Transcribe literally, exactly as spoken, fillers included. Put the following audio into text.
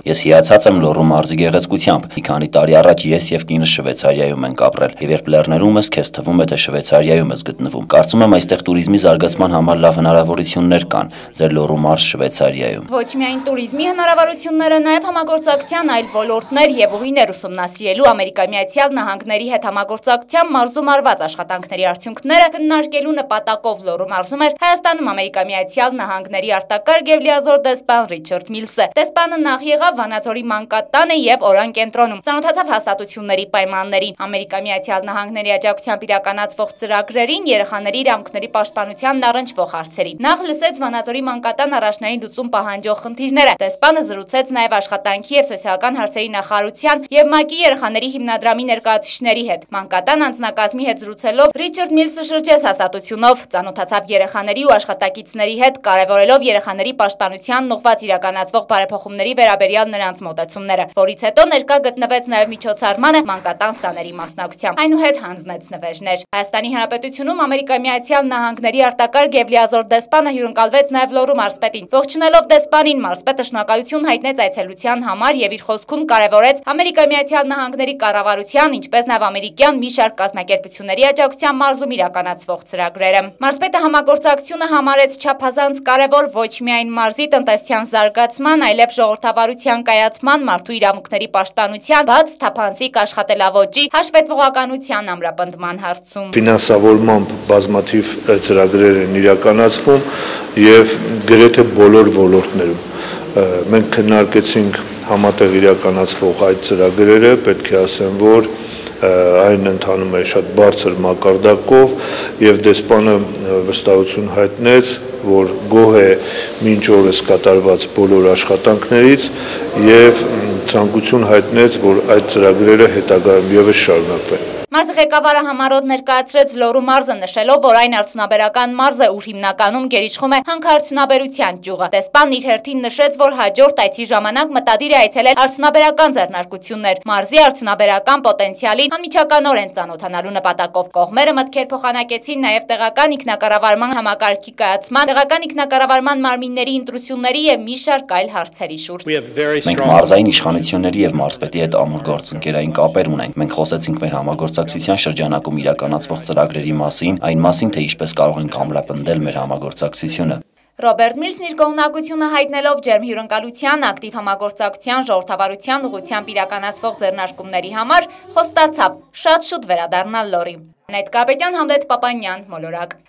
Ես հիացած եմ Լոռու մարզի գեղեցկությամբ։ Մի քանի տարի առաջ ես եւ կինս Շվեյցարիայում ենք ապրել, եւ երբ լեռներում ես, քեզ թվում է, թե Շվեյցարիայում ես գտնվում։ Կարծում եմ այստեղ туриզմի զարգացման համար լավ հնարավորություններ կան ձեր Լոռու մարզ Շվեյցարիայում։ Ոչ միայն туриզմի հնարավորությունները, նաեւ համագործակցության այլ ոլորտներ եւ ուղիներ ուսումնասիրելու Ամերիկայի Միացյալ Նահանգների հետ համագործակցության մարզում արված աշխատանքների արդյունքները քննարկելու նպատակով Լոռու մարզում էր Հայաստանում Ամերիկայի Միացյալ Նահանգների արտակարգ եւ լիազոր դեսպան Ռիչարդ Միլսը։ Դեսպանը նախ եղավ Վանաձորի մանկատանը եւ Օրան կենտրոնում, ծանոթացավ հաստատությունների պայմաններին, Ամերիկայի Միացյալ Նահանգների աջակցությամբ իրականացվող ծրագրերին, երեխաների իրավունքների պաշտպանությանն առնչվող հարցերին։ Նախ լսեց Վանաձորի մանկատան առաջնային լուծում պահանջող խնդիրները։ Դեսպանը զրուցեց նաեւ աշխատանքի եւ սոցիալական հարցերի նախարարության եւ ՄԱԿ-ի երեխաների հիմնադրամի ներկայացուցիչների հետ։ Մանկատան անձնակազմի հետ զրուցելով Ռիչարդ Միլսը շրջեց հաստատությունով, ծանոթացավ երեխաների ու աշխատակիցների հետ, կարևորելով երեխաների պաշտպանությանն ուղղված իրականացվող բարեփոխումների վերաբերյալ նրանց մոտեցումները, որից հետո ներկա գտնվեց նաեւ միջոցառմանը մանկատան սաների մասնակցությամբ։ Այնուհետ հանձնեց նվերներ։ Հայաստանի Հանրապետությունում Ամերիկայի Միացյալ Նահանգների արտակարգ եւ լիազոր դեսպանը հյուրընկալվեց նաեւ Լոռու մարզպետին։ Ողջունելով դեսպանին, մարզպետը շնորհակալություն հայտնեց այցելության համար եւ իր խոսքում կարևորեց Ամերիկայի Միացյալ Նահանգների կառավարության, ինչպես նաեւ ամերիկյան մի շարք կազմակերպությունների աջակցությամբ մարզում իրականացվող ծրագրերը։ Մարզպետը համագործակցությունը համարեց չափազանց կարևոր ոչ միայն մարզի տնտեսության զարգացման, այլև ժողովրդավարության կայացման, մարդու իրավունքների պաշտպանության, բաց թափանցիկ աշխատելավոճի, հաշվետվողականության ամրապնդման հարցում։ Ֆինանսավորմամբ բազմաթիվ ծրագրեր են իրականացվում եւ գրեթե բոլոր ոլորտներում։ Մենք քննարկեցինք համատեղ իրականացվող այդ ծրագրերը, պետք է ասեմ, որ այն ընթանում է շատ բարձր մակարդակով եւ դեսպանը վստահություն հայտնեց, որ գոհ է մինչ օրս կատարված բոլոր աշխատանքներից եւ ցանկություն հայտնեց, որ այդ ծրագրերը հետագայում եւս շարունակվեն։ Մարզի ղեկավարը համառոտ ներկայացրեց Լոռու մարզը, նշելով, որ այն արդյունաբերական մարզ է, ուր հիմնականում գերիշխում է հանքարդյունաբերության ճյուղը։ Դեսպանն իր հերթին նշեց, որ հաջորդ այցի ժամանակ մտադիր է այցելել արդյունաբերական ձեռնարկություններ, մարզի արդյունաբերական պոտենցիալին անմիջականորեն ծանոթանալու նպատակով։ Կողմերը մտքեր փոխանակեցին նաև տեղական ինքնակառավարման համակարգի կայացման, տեղական ինքնակառավարման մարմինների ընտրությունների եւ մի շարք այլ հարցերի շուրջ։ Մենք մարզային իշխանությունների եւ մարզպետի հետ ամուր գործընկերային կապեր ունենք։ Մենք խոսեցինք մեր համագործակցության շրջանակում իրականացվող ծրագրերի մասին, այն մասին, թե ինչպես կարող ենք ամրապնդել մեր համագործակցությունը։ Ռոբերտ Միլսն իր կողմնակությունը հայտնելով ջերմ հյուրընկալության, ակտիվ համագործակցության, ժողովրդավարության ուղղությամբ իրականացվող ձեռնարկումների համար խոստացավ շատ շուտ վերադառնալ Լոռի։ Նեյթ Կարապետյան, Համլետ Պապանյան, Մոլորակ։